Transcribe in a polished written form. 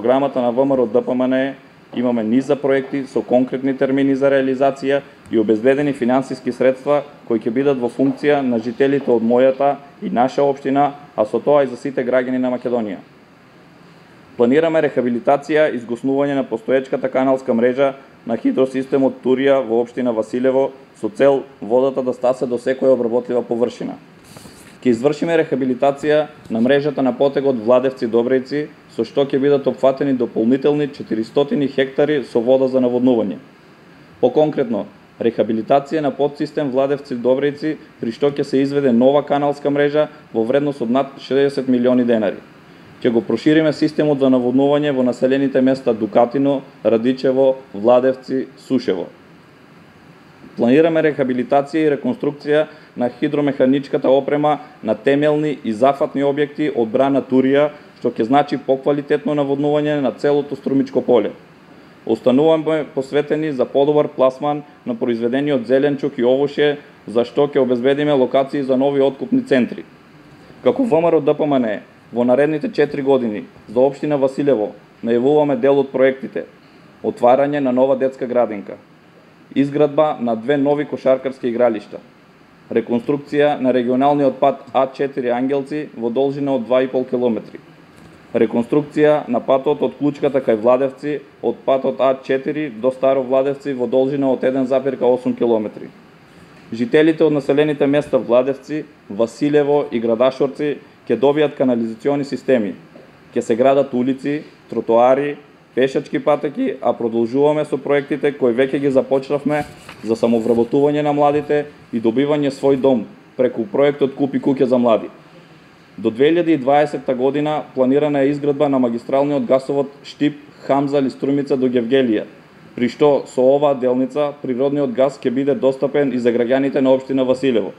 програмата на ВМРО ДПМН имаме низ за проекти со конкретни термини за реализација и обезбедени финансиски средства кои ќе бидат во функција на жителите од мојата и наша општина, а со тоа и за сите граѓани на Македонија. Планираме рехабилитација и згоснување на постоечката каналска мрежа на хидросистемот Турија во општина Василево со цел водата да стасе до секоја обработлива површина. Ќе извршиме рехабилитација на мрежата на потегот Владевци-Добрејци, со што ќе бидат опфатени дополнителни 400 хектари со вода за наводнување. Поконкретно, рехабилитација на подсистем Владевци-Добрејци, при што ќе се изведе нова каналска мрежа во вредност од над 60 милиони денари. Ќе го прошириме системот за наводнување во населените места Дукатино, Радичево, Владевци, Сушево. Планираме рехабилитација и реконструкција на хидромеханичката опрема на темелни и зафатни објекти од брана Турија, што ќе значи поквалитетно наводнување на целото струмичко поле. Остануваме посветени за подобар пласман на произведениот зеленчук и овошје, за што ќе обезбедиме локации за нови откупни центри. Како ВМРО ДПМН, во наредните 4 години за општина Василево најавуваме дел од проектите: отварање на нова детска градинка, изградба на 2 нови кошаркарски игралишта, реконструкција на регионалниот пат А4 Ангелци во должина од 2,5 км, реконструкција на патот од Клучката кај Владевци од патот А4 до Старо Владевци во должина од 1,8 км. Жителите од населените места Владевци, Василево и Градашорци ќе добијат канализациони системи, ќе се градат улици, тротоари, пешачки патеки, а продолжуваме со проектите кои веќе ги започнавме за самовработување на младите и добивање свој дом преку проектот Купи куќа за млади. До 2020 година планирана е изградба на магистралниот гасовод Штип Хамза Струмица до Гевгелија, при што со оваа делница природниот гас ќе биде достапен и за граѓаните на општина Василево.